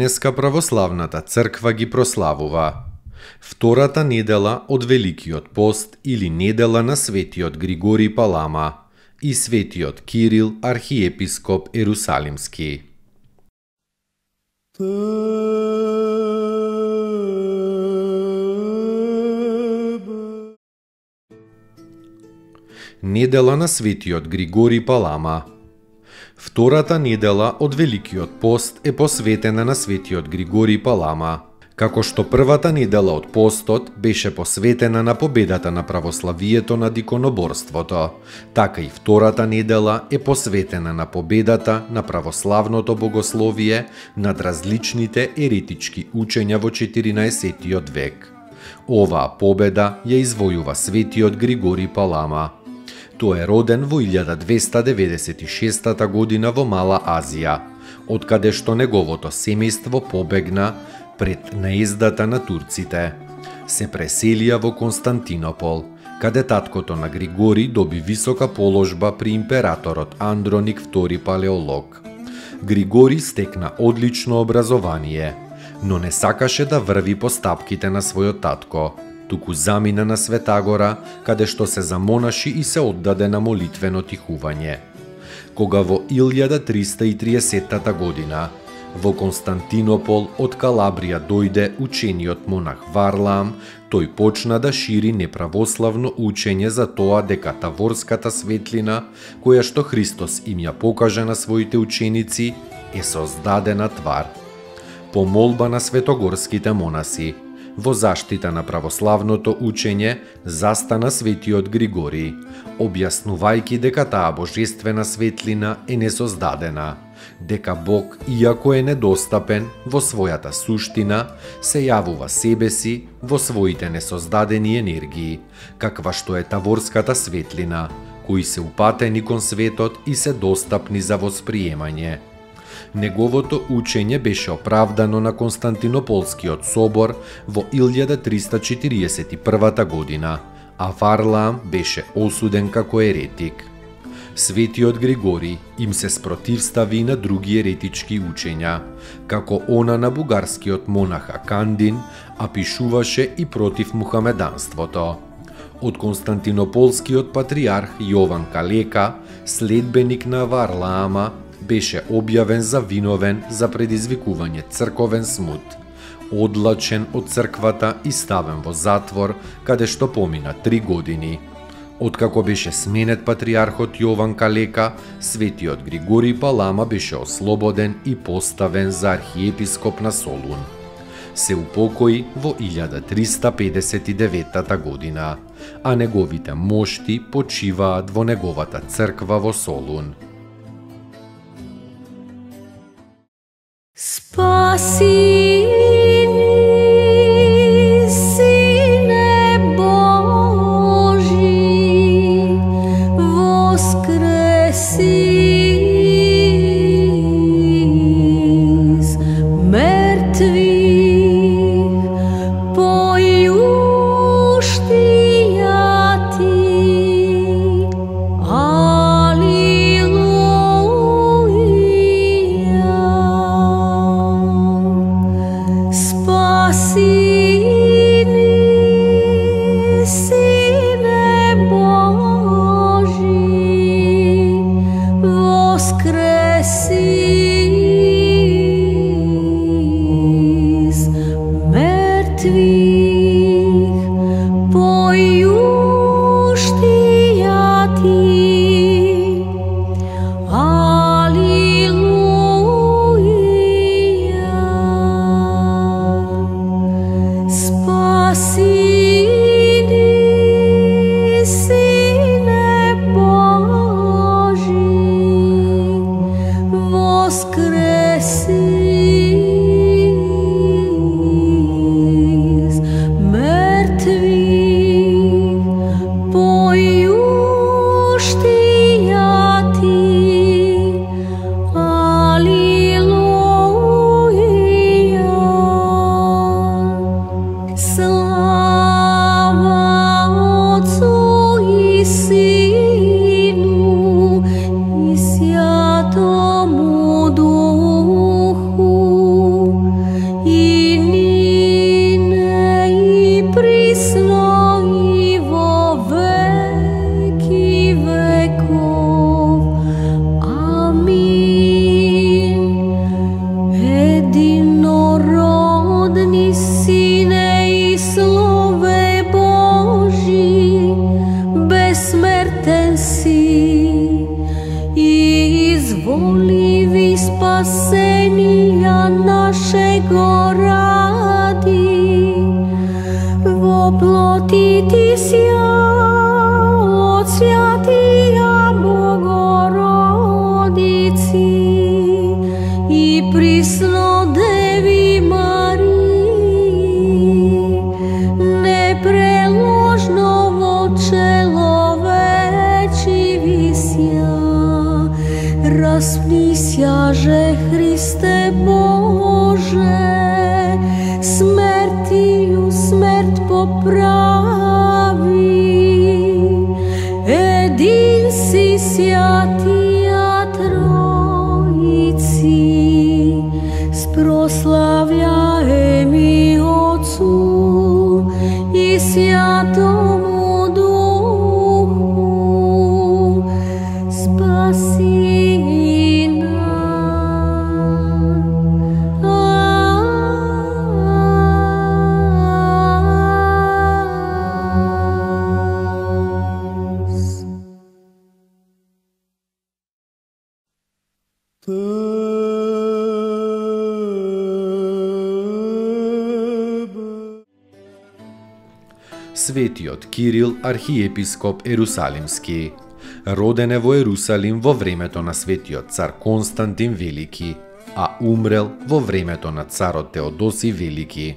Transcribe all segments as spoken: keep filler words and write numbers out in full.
Денеска православната црква ги прославува втората недела од Великиот пост или недела на светиот Григорий Палама и светиот Кирил архиепископ Ерусалимски. Недела на светиот Григорий Палама. Втората недела од Великиот пост е посветена на светиот Григорий Палама, како што првата недела од постот беше посветена на победата на православието над иконоборството, така и втората недела е посветена на победата на православното богословие над различните еретички учења во четиринаесеттиот век. Оваа победа ја извојува светиот Григорий Палама. Тој е роден во илјада двеста деветдесет и шеста година во Мала Азија, откаде што неговото семејство побегна пред наездата на турците. Се преселија во Константинопол, каде таткото на Григорий доби висока положба при императорот Андроник втори Палеолог. Григорий стекна одлично образование, но не сакаше да врви по стапките на својот татко, туку замина на Светагора, каде што се замонаши и се оддаде на молитвено тихување. Кога во илјада триста и триесетта година во Константинопол од Калабрија дојде учениот монах Варлаам, тој почна да шири неправославно учење за тоа дека таворската светлина, која што Христос им ја покажа на своите ученици, е создадена твар. По молба на светогорските монаси, во заштита на православното учење застана светиот Григорий, објаснувајќи дека таа божествена светлина е несоздадена, дека Бог, иако е недостапен во својата суштина, се јавува себе си во своите несоздадени енергии, каква што е таворската светлина, кои се упатени кон светот и се достапни за восприемање. Неговото учење беше оправдано на Константинополскиот собор во илјада триста четириесет и прва година, а Варлаам беше осуден како еретик. Светиот Григорий им се спротивстави на други еретички учења, како она на бугарскиот монах Акандин, а пишуваше и против мухамеданството. Од Константинополскиот патриарх Јован Калека, следбеник на Варлаама, беше објавен за виновен за предизвикување црковен смут, одлачен од црквата и ставен во затвор, каде што помина три години. Откако беше сменет патриархот Јован Калека, светиот Григорий Палама беше ослободен и поставен за архиепископ на Солун. Се упокои во илјада триста педесет и девета година, а неговите мошти почиваат во неговата црква во Солун. Спаси Сину и Святому Духу, и нине и присно и во веки веков. Амин. Единородни Сине и Слове Божи, бессмертен си и изволиви спасенија нашего ради, воплотити сја од Святија Богородици и присно Деви Марии, непреложно во человечи висја. Распнися же, Христе Боже, смертию смрт поправи. Един си Святија Троици, спрославляеми Отцу и Святому Духу, спаси нас. Светиот Кирил, архиепископ Ерусалимски, роден е во Ерусалим во времето на светиот цар Константин Велики, а умрел во времето на царот Теодоси Велики.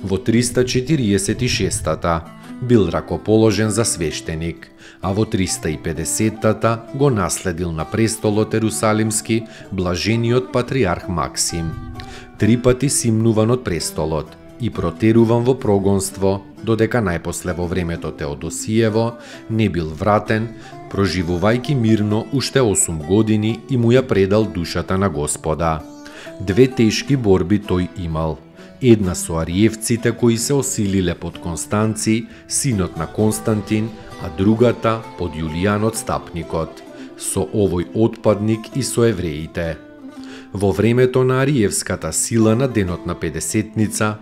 Во триста четириесет и шестата бил ракоположен за свештеник, а во триста и педесетата го наследил на престолот Ерусалимски блажениот патриарх Максим. Три пати симнуван од престолот и протеруван во прогонство, додека најпосле во времето Теодосиево не бил вратен, проживувајќи мирно уште осум години и му ја предал душата на Господа. Две тешки борби тој имал. Една со ариевците кои се осилиле под Констанци, синот на Константин, а другата под Јулијан Отстапникот, со овој отпадник и со евреите. Во времето на ариевската сила на денот на Педесетница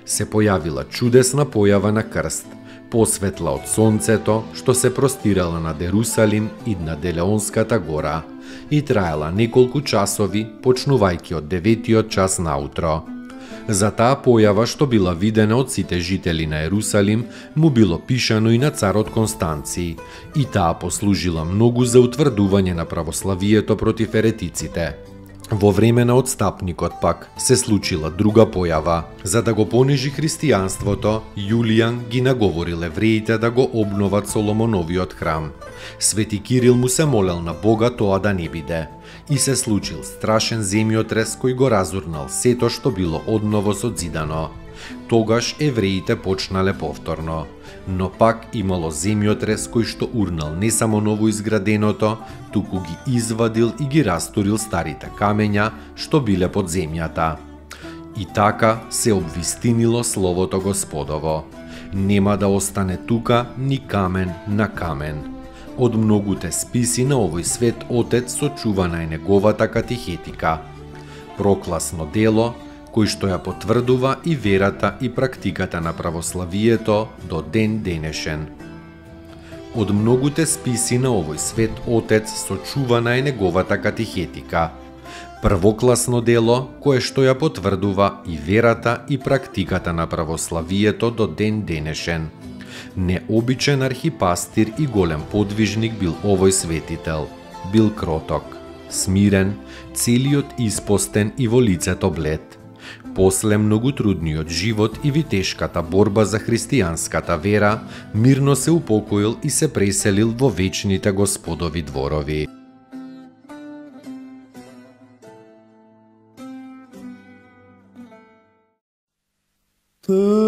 се појавила чудесна појава на крст, посветла од сонцето, што се простирала над Ерусалим и над Елеонската гора, и траела неколку часови, почнувајќи од деветиот час наутро. За таа појава што била видена од сите жители на Ерусалим, му било пишано и на царот Констанци, и таа послужила многу за утврдување на православието против еретиците. Во време на Отстапникот пак се случила друга појава. За да го понижи христијанството, Јулијан ги наговорил евреите да го обноват Соломоновиот храм. Свети Кирил му се молел на Бога тоа да не биде. И се случил страшен земјотрес кој го разурнал сето што било одново созидано. Тогаш евреите почнале повторно, но пак имало земјотрес кој што урнал не само ново изграденото, туку ги извадил и ги растурил старите камења што биле под земјата. И така се обвистинило словото Господово. Нема да остане тука ни камен на камен. Од многуте списи на овој свет Отец сочувана е неговата катехетика. Прокласно дело, кој што ја потврдува и верата и практиката на православието до ден денешен. Од многуте списи на овој свет Отец сочувана е неговата катехетика. Првокласно дело, кое што ја потврдува и верата и практиката на православието до ден денешен. Необичен архипастир и голем подвижник бил овој светител. Бил кроток, смирен, целиот испостен и во лицето блед. После многу трудниот живот и витешката борба за христијанската вера, мирно се упокоил и се преселил во вечните Господови дворови. Thank